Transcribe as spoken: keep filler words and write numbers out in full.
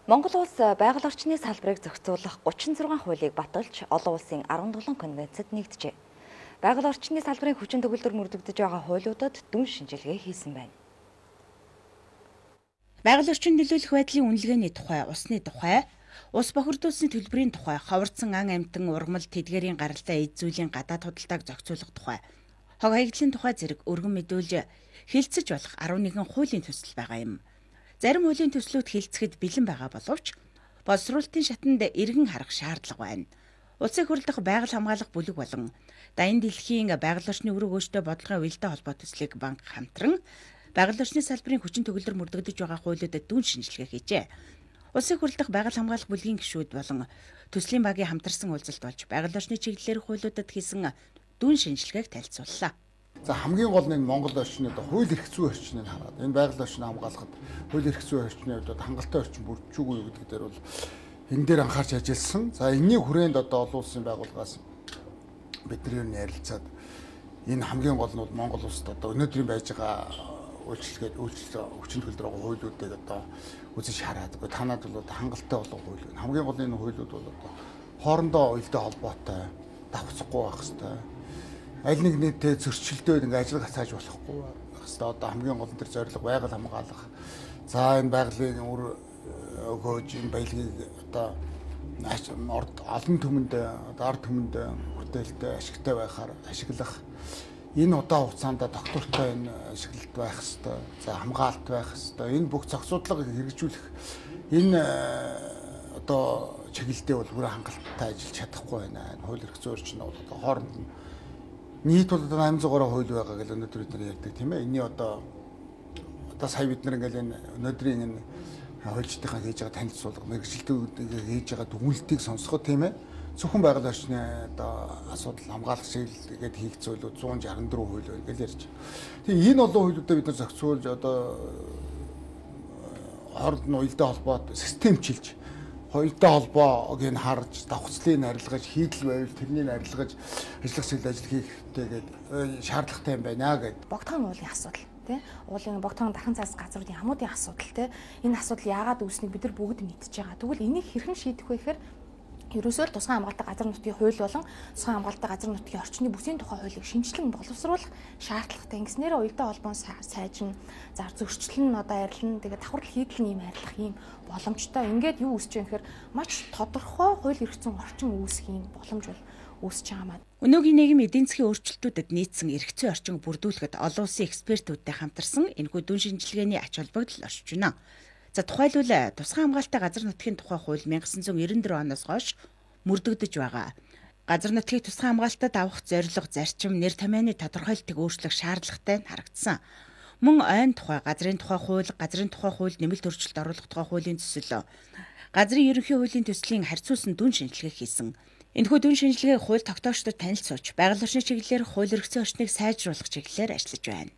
Монгол улс байгаль орчны салбарыг зохицуулах гучин зургаан хуулийг баталж олон улсын арван долоо конвенцэд нэгджээ. Байгаль орчны салбарын хүчин төгөлдөр мөрдөгдөж байгаа хуулиудад дүн шинжилгээ хийсэн байна. Байгаль орчин нөлөөлөх байдлын үнэлгээний тухай, усны тухай, ус бохирдуулсны төлбөрийн тухай, ховорцсон ан амьтан ургамал тэдгээрийн гаралтай эд зүйлийн гадаад худалдааг зохицуулах тухай, хог хаягдлын тухай зэрэг өргөн мэдүүлж хэлцэж болох арван нэгэн хуулийн төсөл байгаа юм. Зарим хуулийн төслүүд хэлцэхэд бэлэн байгаа боловч боловсруулалтын шатанд эргэн харах шаардлага байна. Улсыг хурлдах байгаль хамгаалах бүлэг болон Даян дэлхийн байгаль орчны өрөг өөртөө бодлогын уялдаа холбоо төслийг банк хамтран байгаль орчны салбарын хүчин төгөлдөр мөрдөгдөж байгаа хуулиудад дүн шинжилгээ хийжээ. Улсыг хурлдах байгаль хамгаалах бүлгийн гишүүд болон төслийн багийн хамтарсан уулзалт болж байгаль орчны чиглэлээр хуулиудад хийсэн дүн шинжилгээг танилцууллаа. За хамгийн гол нь Монгол орчны хууль эрх зүйн орчныг хараад энэ байгаль орчныг хамгаалахад хууль эрх зүйн орчны хувьд хангалттай орчин бүрдчихгүй юу гэдэг дээр бол энэ дээр анхаарч ажилласан. За энэний хүрээнд одоо олон улсын байгууллагаас бидний юу ярилцаад энэ хамгийн гол нь бол Монгол улсад одоо өнөөдрийн байж байгаа үйлчлэгээд үйлчлэл хүчин төгөлдөр байгаа хуулиудыг одоо үзэж хараад танад бол хангалттай болох хууль. Хамгийн гол нь энэ хуулиуд бол одоо хоорондоо уялдаа холбоотой давхцахгүй байх хэрэгтэй. Аль нэг нийтэд зөрчилдөөд ингээ ажил гацааж болохгүй байх хэрэгтэй. Одоо хамгийн гол төр зорилго байгаль хамгаалах. За энэ байгалийн үр өгөөж энэ баялагийг одоо олон түмэнд ард түмэнд хүрээлэлтэй ашигтай байхаар ашиглах. Энэ удаан хугацаанд доктортой энэ ашиглалт байх хэрэгтэй. За хамгаалалт байх хэрэгтэй. Энэ бүх зохицуудлага хэрэгжүүлэх энэ одоо чиглэлдээ бол бүрэн хангалттай ажиллаж чадахгүй байна. Хууль эрх зүйн орчин бол одоо хооронд нь нийт бол восемь сая хууль байгаа гэж өнөөдөр бид нар ярьдаг тийм ээ. Энийний одоо одоо сая бид нар ингээл энэ өнөөдрийн энэ хуульчдынхаа хийж байгаа танилцуулга, мэргэжилтүүдийг хийж байгаа дүгнэлтийг сонсоход тийм ээ. Зөвхөн байгаль орчны одоо асуудал хамгаалах чиглэлгээд хийх зүйлүүд one sixty-four хууль байна гэж ярьж. Тэгээ энэ олон хуулиудаа бид нар зохицуулж одоо хооронд нь уялдаа холбоод системчилж хоёртой холбоог нь харж, давхцлыг арилгаж, хийдэл байвал тэрнийг арилгаж, ажиллах чиглэл ажил хийх хэрэгтэй гэдэг шаардлагатай юм байна гэдэг. Богдхон уулын асуудал тий. Уулын богдхон дархан цаас газруудын хамуудын асуудал тий. Энэ асуудал яагаад үүснийг бид нар бүгд мэдчихэж байгаа. Тэгвэл энийг хэрхэн шийдэх вэ гэхээр ерөөсөө л тусгай хамгаалалттай газар нутгийн хууль болон тусгай хамгаалалттай газар нутгийн орчны бүсийн тухай хуулийг шинжилэн боловсруулах шаардлагатай. Ингэснээр уялдаа холбоон сайжин, зар зөрчил нь одоо арилна. Тэгээд давхар хийдэл нь юм арилах юм боломжтой. Ингээд юу үүсэж байгаа гэхээр маш тодорхой хууль эрх зүйн орчин үүсэх юм боломж бол үүсэж байгаа маа. Өнөөгийн нийгэм эдийн засгийн өөрчлөлтүүдэд нийцсэн эрх зүйн орчин бүрдүүлэхэд олон улсын экспертүүдтэй хамтарсан энэхүү дүн шинжилгээний ач холбогдол оршиж байна. За тухайлбал тусгай хамгаалалттай газар нутгийн тухай хууль nineteen ninety-four оноос хойш мөрдөгдөж байгаа. Газар нутгийг тусгай хамгаалалтад авах зорилго, зарчим, нэр томьёоны тодорхойлтыг өөрчлөх шаардлагатай нь харагдсан. Мөн ойн тухай, газрын тухай хууль, газрын тухай хууль нэмэлт өөрчлөлт оруулах тухай хуулийн төсөл, газрын ерөнхий хуулийн төслийн харьцуулсан дүн шинжилгээ хийсэн. Энэхүү дүн шинжилгээг хууль тогтоогчдод танилцуулж, байгаль орчны чиглэлээр хууль эрх зүйн орчныг сайжруулах чиглэлээр ажиллаж байна.